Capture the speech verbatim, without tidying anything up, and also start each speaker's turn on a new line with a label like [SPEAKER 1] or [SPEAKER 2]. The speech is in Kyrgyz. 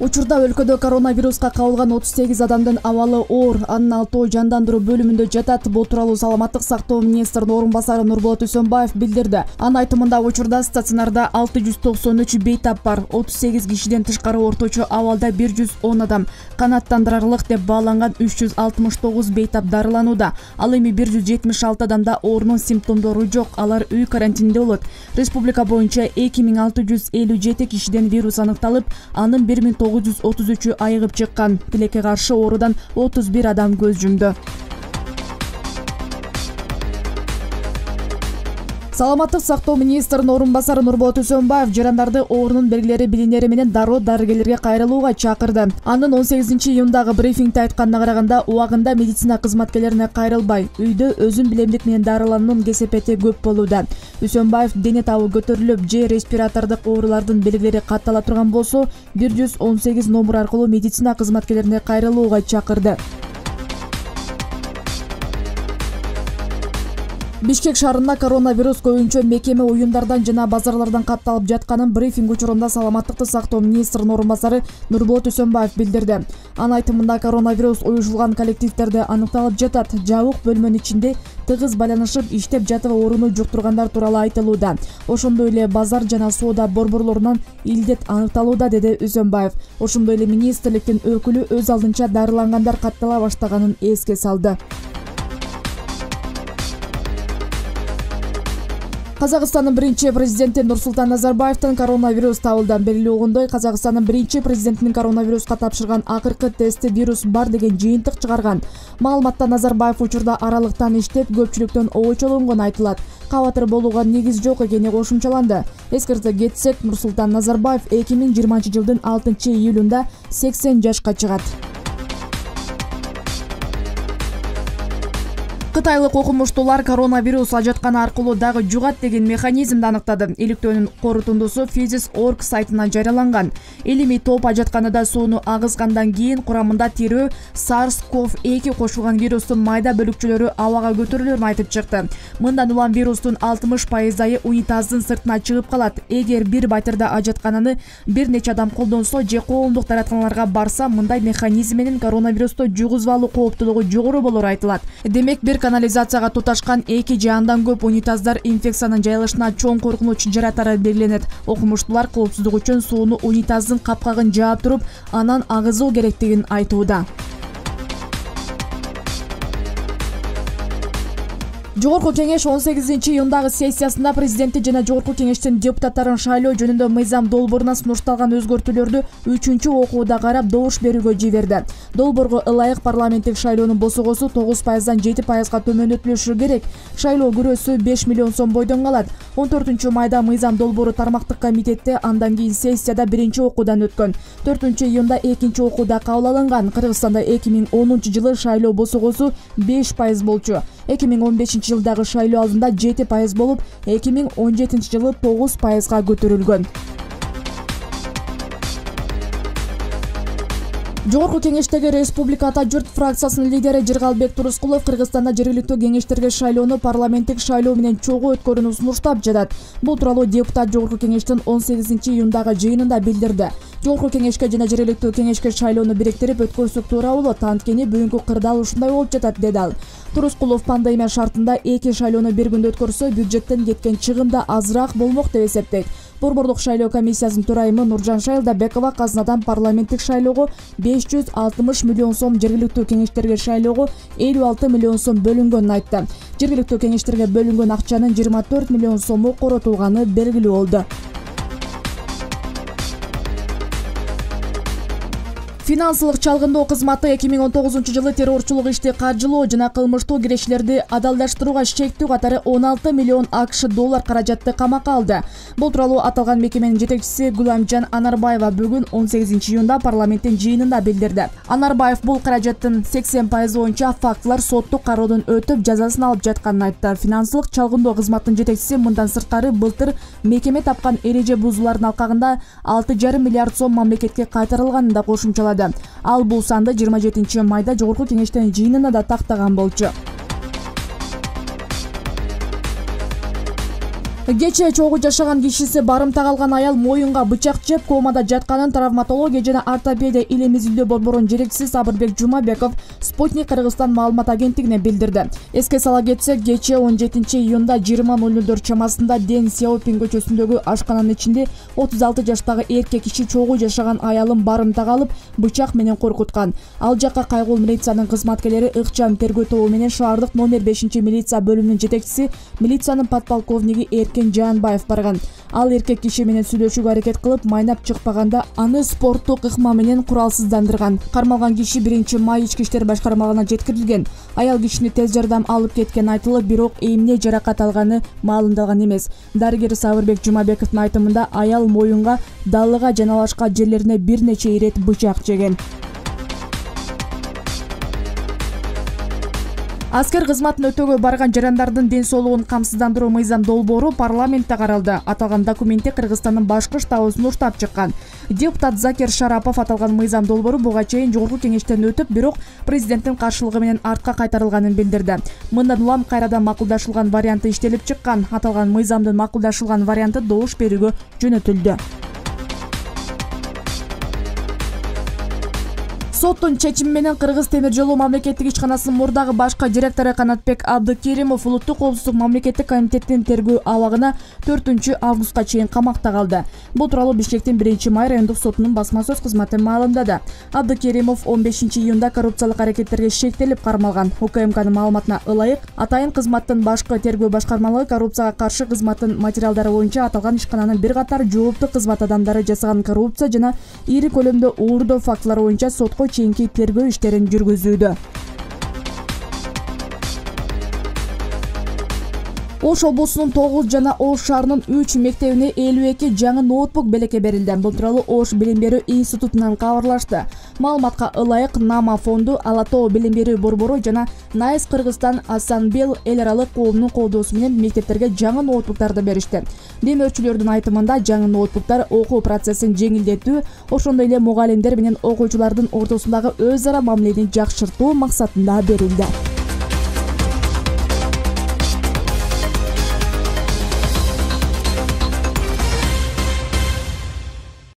[SPEAKER 1] Учурда өлкөдө коронавируска кабылган отуз сегиз адамдын абалы оор, анын алтоо жандандыруу бөлүмүндө жатат. Бул тууралуу Саламаттык сактоо министринин орун басары Нурболот Үсөнбаев билдирди. Анын айтымында учурда стационарда алты жүз токсон үч бейтап бар. отуз сегиз кишиден тышкары орточо абалда бир жүз он адам, канааттандырарлык деп бааланган үч жүз алтымыш тогуз бейтап дарыланууда. Ал эми бир жүз жетимиш алты адамда оорунун симптомдору жок, алар үй карантининде болот. Республика боюнча эки миң алты жүз элүү жети кишиден вирус аныкталып, анын бир миң тогуз жүз отуз үчү айыгып чыккан. Тилекке каршы оорудан отуз бир адам көз жумду. Саламаттык сактоо министринин орун басары Нурболот Үсөнбаев жарандарды оорунун белгилери билинери менен дароо дарыгерлерге кайрылууга чакырды. Анын он сегизинчи июндагы брифингде айтканына караганда, убагында медицина кызматкерлерине кайрылбай, үйдө өзүн билемдик менен дарылануунун кесепети көп болууда. Үсөнбаев дене табы көтөрүлүп, же респиратордук оорулардын белгилери каттала турган болсо, бир жүз он сегиз номер аркылуу медицина кызматкерлерине кайрылууга чакырды. Бишкек шаарында коронавирус көбүнчө мекеме, уюмдардан жана базарлардан катталып жатканын брифинг учурунда Саламаттыкты сактоо министринин орун басары Нурболот Үсөнбаев билдирди. Анын айтымында коронавирус уюшулган коллективдерде аныкталып жатат. Жабык бөлмөнүн ичинде тыгыз байланышып иштеп жатып ооруну жуктургандар тууралуу айтылууда. Ошондой эле базар жана соода борборлорунан илдет аныкталууда, деди Үсөнбаев. Ошондой эле министрликтин өкүлү өз алдынча дарылангандар каттала баштаганын эске салды. Казакстандын биринчи президенти Нурсултан Назарбаевдин коронавирус табылды. Белгилүү болгондой, Казакстандын биринчи президентинин коронавируска тапшырган акыркы тести вирус бар деген жыйынтык чыгарган. Маалыматта Назарбаев учурда аралыктан иштеп, көпчүлүктөн обочолонгону айтылат. Кабатыр болууга негиз жок экени кошумчаланды. Эскерте кетсек, Нурсултан Назарбаев эки миң жыйырманчы жылдын алтынчы июлунда сексен жашка чыгат. Кытайлык окумуштуулар коронавирус ажатканы аркылуу дагы жугат деген механизмди аныктады. Иликтөөнүн корутундусу Physis точка org сайтына жарыяланган. Илимий топ ажатканада сууну агызгандан кийин курамында тирөө SARS CoV эки кошулган вирустун майда бөлүкчөлөрү абага көтөрүлөрүн айтып чыкты. Мындан улам вирустун алтымыш пайызы унитаздын сыртына чыгып калат. Эгер бир батирде ажаткананы бир нече адам колдонсо же коомдук дааратканаларга барса, мындай механизм менен коронавирусту жугузбалуу кооптуулугу жогору болору айтылат. Демек, бир канализацияга туташкан эки же андан көп унитаздар инфекциянын жайылышына чоң коркунуч жаратары белгиленет. Окумуштуулар коопсуздук үчүн сууну унитаздын капкагын жаап туруп, анан агызуу керектигин айтууда. Жогорку кеңеш он сегизинчи июндагы сессиясында президенти жана Жогорку кеңештин депутаттарын шайлоо жөнүндө мыйзам долбооруна сунушталган өзгөртүүлөрдү үчүнчү окууда карап добуш берүүгө жиберди. Долбоорго ылайык парламенттик шайлоонун босогосу тогуз пайыздан жети пайызга төмөндөтүлүшү керек. Шайлоо күрөөсү беш миллион сом бойдон калат. он төртүнчү майда мыйзам долбоору тармактык комитетте, андан кийин сессияда биринчи окуудан өткөн. төртүнчү июнда экинчи окууда кабыл алынган. Кыргызстанда эки миң онунчу жылы шайлоо босогосу беш пайыз болчу. эки миң он бешинчи жылдагы шайлоо алдында жети пайыз болуп, эки миң он жетинчи жылы тогуз пайызга көтөрүлгөн. Жогорку кеңештеги Республика Ата журт фракциясынын лидери Жыргалбек Турускулов Кыргызстанда жергиликтүү кеңештерге шайлоону парламенттик шайлоо менен чогуу өткөрүүнү сунуштап жатат. Бул тууралуу депутат Жогорку кеңештин он сегизинчи июндагы жыйынында билдирди. Жогорку кеңешке жана жергиликтүү кеңешке шайлоону бириктирип өткөрсөк туура болот, анткени бүгүнкү кырдаал ушундай болуп жатат, деди ал. Турускулов пандемия шартында эки шайлоону бир күндө өткөрсө, бюджеттен кеткен чыгым да азыраак болмок деп эсептейт. Борбордук шайлоо комиссиясынын төрайымы Нуржан Шайлдабекова казынадан парламенттик шайлоого беш жүз алтымыш миллион сом, жергиликтүү кеңештерге шайлоого элүү алты миллион сом бөлүнгөнүн айтты. Жергиликтүү кеңештерге бөлүнгөн акчанын жыйырма төрт миллион сому коротулганы белгилүү болду. Финансылык чалгындоо кызматы эки миң он тогузунчу жылы террорчулук ишти каржылоо жана кылмыштуу кирешилерди адалдаштырууга шектүү катары он алты миллион АКШ доллар каражатты камакка алды. Бул тууралуу аталган мекеменин жетекчиси Гуламжан Анарбаева бүгүн он сегизинчи июнда парламенттин жыйынында билдирди. Анарбаев бул каражаттын сексен пайызы боюнча фактылар соттук кароодон өтүп, жазасын алып жатканын айтты. Финансылык чалгындоо кызматынын жетекчиси мындан сырткары былтыр мекеме тапкан эреже бузуулардын алкагында алты жарым миллиард сом мамлекетке кайтарылганын да кошумчалады. Ал бул санды жыйырма жетинчи майда Жогорку кеңештин жыйынында да тактаган болчу. Кечээ чогуу жашаган кишиси барымтага алган аял моюнга бычак жеп комада жатканын травматология жана ортопедия илим изилдөө борборунун жетекчиси Сабырбек Жумабеков Спутник Кыргызстан маалымат агенттигине билдирди. Эске сала кетсек, кечээ он жетинчи июнда жыйырма ноль нолдор чамасында Дэн Сяопин көчөсүндөгү ашкананын ичинде отуз алты жаштагы эркек киши чогуу жашаган аялын барымтага алып, бычак менен коркуткан. Ал жакка кайгыл милициянын кызматкерлери ыкчам тергөө тобу менен шаардык номер бешинчи милиция бөлүмүнүн жетекчиси, милициянын подполковниги Эркен Жанбаев барган. Ал эркек киши менен сүйлөшүүгө аракет кылып, майнап чыкпаганда аны спорттук ыкма менен куралсыздандырган. Кармалган киши биринчи май ички иштер башкармалыгына жеткирилген. Аял кишини тез жардам алып кеткен айтылып, бирок эмне жаракат алганы маалымдалган эмес. Дарыгер Сабырбек Жумабековдун айтымында аял моюнга, далыга жана башка жерлерине бир нече ирет бычак жеген. Аскер кызматын өтөөгө барган жарандардын ден соолугун камсыздандыруу мыйзам долбоору парламентте каралды. Аталган документте Кыргызстандын башкы штабын уштап чыккан. Депутат Закир Шарапов аталган мыйзам долбоору буга чейин жогорку кеңештен өтүп, бирок президенттин каршылыгы менен артка кайтарылганын билдирди. Мындан улам кайрадан макулдашылган варианты иштелип чыккан. Аталган мыйзамдын макулдашылган варианты добуш берүүгө жөнөтүлдү. Соттун чечими менен Кыргыз темир жолу мамлекеттик ишканасынын мурдагы башкы директору Канатбек Абдыкеримов Улуттук коопсуздук мамлекеттик комитетинин тергөө абагына төртүнчү августка чейин камакта калды. Бул тууралуу Бишкектин биринчи май райондук сотунун басма сөз кызматы маалымдады. Абдыкеримов он бешинчи июнда коррупциялык аракеттерге шектелип кармалган. УКМКнын маалыматына ылайык, атайын кызматтын башкы тергөө башкармалыгы коррупцияга каршы кызматтын материалдары боюнча аталган ишкананын бир катар жооптуу кызмат адамдары жасаган коррупция жана ири көлөмдө уурдоо фактылары боюнча сотко чейинки тергөө иштерин жүргүзүүдө. Ош облусунун тогуз жана Ош шаарынын үч мектебине элүү эки жаңы ноутбук белекке берилди. Бул тууралуу Ош билим берүү институтунан кабарлашты. Маалыматка ылайык, Нама фонду, Ала Тоо билим берүү борбору жана Найс Кыргызстан Асанбел эл аралык коомунун колдоосу менен мектептерге жаңы ноутбуктарды беришти. Демөөрчүлөрдүн айтымында жаңы ноутбуктар окуу процессин жеңилдетүү, ошондой эле мугалимдер менен окуучулардын ортосундагы өз ара мамилени жакшыртуу максатында берилди.